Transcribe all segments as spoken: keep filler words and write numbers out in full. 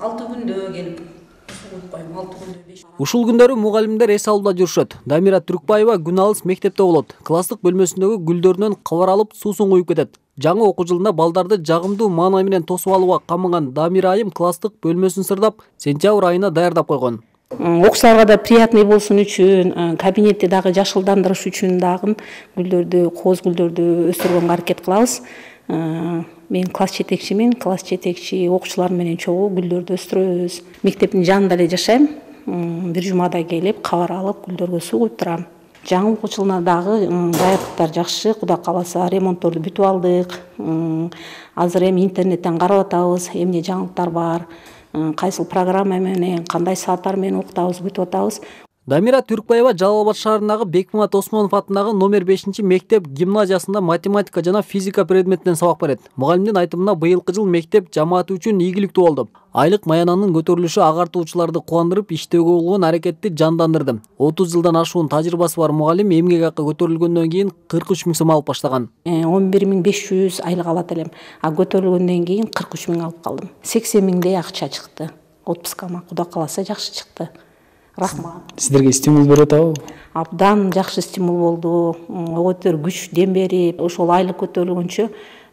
алты күндө келип коюп коем, алты күндө беш. Ушул күндөрү мугалимдер эс алууда жүрүшөт. Дамира Түркбаева күн алыс мектепте болот. Класстык бөлмөсүндөгү гүлдөрүнөн кабар алып суусун куюп кетет. Жаңы окуу жылында балдарды жагымдуу маанай менен тосуп алууга камыган Дамира айым класстык бөлмөсүн сырдап, сентябрь айына даярдап койгон. Окуучуларга да приятный болсун үчүн, кабинетти дагы жашылдандырыш үчүн дагы гүлдөрдү, кооз гүлдөрдү өстүргөнгө аракет кылабыз. Мен класс жетекчимин, класс жетекчи окуучулар менен чогуу гүлдөрдү өстүрөбүз. Мектептин жанында эле жашайм. Бир жумада келип, кабар алып, гүлдөргө суу куюп турам. Жаңы окуу жылына дагы даярдыктар жакшы, Кудай кааласа ремонтторду бүтүп алдык. Азыр эми интернеттен карап атабыз, эмне жаңылыктар бар, кайсыл программа менен, кандай сааттар менен окутабыз, бүтүп атабыз. Дамира Түркбаева Жалал Абад шаарындагы Бекмамат Осмонов атындагы номер бешинчи мектеп гимназиясында математика жана физика предметинен сабак берет. Мугалимдин айтымына быйылкы жыл мектеп жамааты үчүн ийгиликтүү болду. Айлык маянанын көтөрүлүшү агартуучуларды кубандырып, иштөөгө болгон аракетти жандандырды. отуз жылдан ашуун тажрыйбасы бар мугалим эмгек акы көтөрүлгөндөн кийин кырк үч миң сом алып баштаган. он бир миң беш жүз айлык алат элем. А көтөрүлгөндөн кийин кырк үч миң алып калдым. сексен миңдей акча чыкты. Отпускама Кудай кааласа жакшы чыкты. Рахмат. Сиздерге стимул берип атабы? Абдан жакшы стимул болду. Өтөр күч, дем берип, ошол айлык көтөрүлгөнчө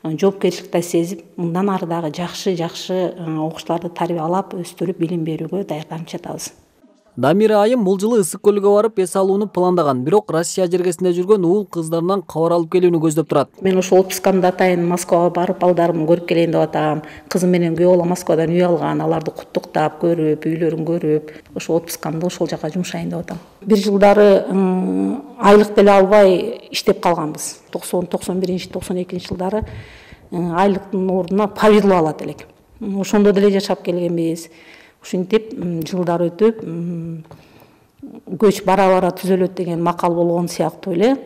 жоопкерчиликти сезип, мындан ары дагы жакшы-жакшы окуучуларды тарбиялап, өстүрүп, билим берүүгө даярданып жатабыз. Дамира айым бул жылы Ысык көлгө барып эс алууну пландаган, бирок Россия жергесинде жүргөн уул кыздарынан кабар алып келүүнү көздөп турат. Мен ошол отпускамды атайын Москвага барып, балдарымды көрүп келейин деп атам. Кызым менен күйөө бала Москвадан үй алган, аларды куттуктап, көрүп, үйлөрүн көрүп, ошол отпускамды ошол жака жумшайын деп атам. Бир жылдары айлык деле албай иштеп калганбыз. токсон, токсон биринчи, токсон экинчи жылдары айлыктын ордуна повезло алат элек. Ошондо деле жашап келгенбиз. Ушинтип жылдар өтүп, көч бара-бара түзөлөт деген макал болгон сыяктуу эле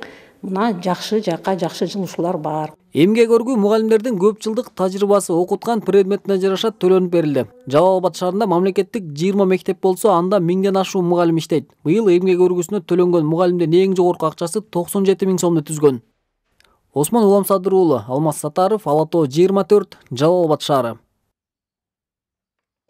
мына жакшы жака жакшы жылуушулар бар. Эмгек өргүү мугалимдердин көп жылдык тажрыйбасы окуткан предметине жараша төлөнүп берилди. Жалал Абад шаарында мамлекеттик жыйырма мектеп болсо, анда миңден ашуун мугалим иштейт. Быйыл эмгек өргүүсүнө төлөнгөн мугалимдин эң жогорку акчасы токсон жети миң сомду түзгөн. Осмон Уламсадыр уулу, Алмаз Сатаров, Ала Тоо жыйырма төрт, Жалал Абад шаары.